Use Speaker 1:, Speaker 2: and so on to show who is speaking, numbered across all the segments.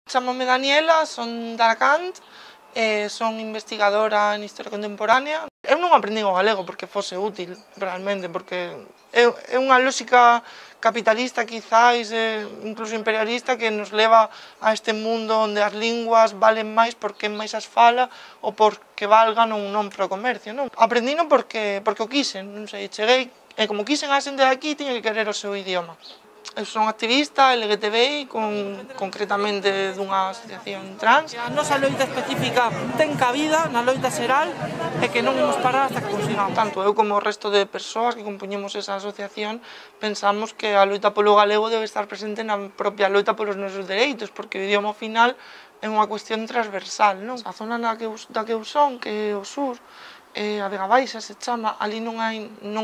Speaker 1: Chámome Daniela, son de Alacant, son investigadora en Historia Contemporánea. Eu non aprendín o galego porque fose útil, realmente, porque é unha lógica capitalista, quizáis, incluso imperialista, que nos leva a este mundo onde as linguas valen máis porque máis as fala ou porque valgan ou non para o comercio, non? Aprendino porque o quixen, non sei, cheguei, e como quixen a xente de aquí, tiña que querer o seu idioma. Eu son activista LGTBI, concretamente dunha asociación trans. A nosa loita específica ten cabida na loita xeral e que non imos parar hasta que consigamos. Tanto eu como o resto de persoas que compoñemos esa asociación pensamos que a loita polo galego debe estar presente na propia loita polos nosos dereitos, porque o idioma ao final é unha cuestión transversal, non? A zona da que eu son, que é o sur, a Vega Baixa se chama, ali non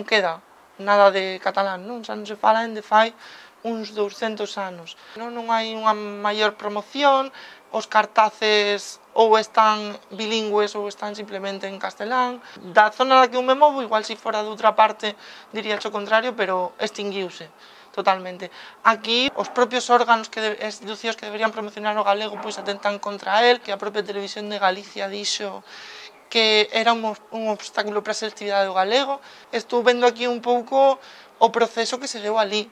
Speaker 1: queda nada de catalán, non? Xa non se fala dende fai uns 200 anos. Non hai unha maior promoción, os cartaces ou están bilingües ou están simplemente en castelán. Da zona da que eu me movo, igual se fora de outra parte diría o contrario, pero extinguiuse totalmente. Aquí os propios órganos e institucións que deberían promocionar o galego pois atentan contra el, que a propia Televisión de Galicia dixo que era un obstáculo para a selectividade do galego. Estou vendo aquí un pouco o proceso que se deu ali.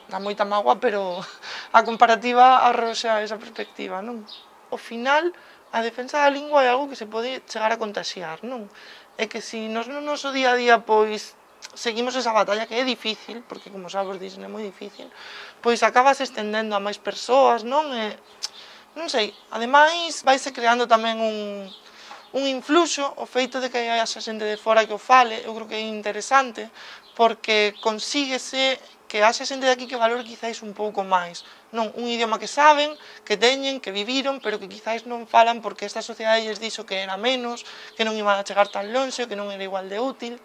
Speaker 1: Dá moita mágoa, pero a comparativa arroxa esa perspectiva, non? Ao final, a defensa da lingua é algo que se pode chegar a contaxiar, non? É que se nos no noso día a día, pois, seguimos esa batalla que é difícil, porque, como xa vos dixen, é moi difícil, pois acabas estendendo a máis persoas, non? Non sei, ademais, vaise creando tamén un influxo, o feito de que hai xente de fora que o fale, eu creo que é interesante, porque consíguese que haxa xente de aquí que valore quizáis un pouco máis, non? Un idioma que saben, que teñen, que viviron, pero que quizáis non falan porque esta sociedade lles dixo que era menos, que non iban a chegar tan lonxe, que non era igual de útil.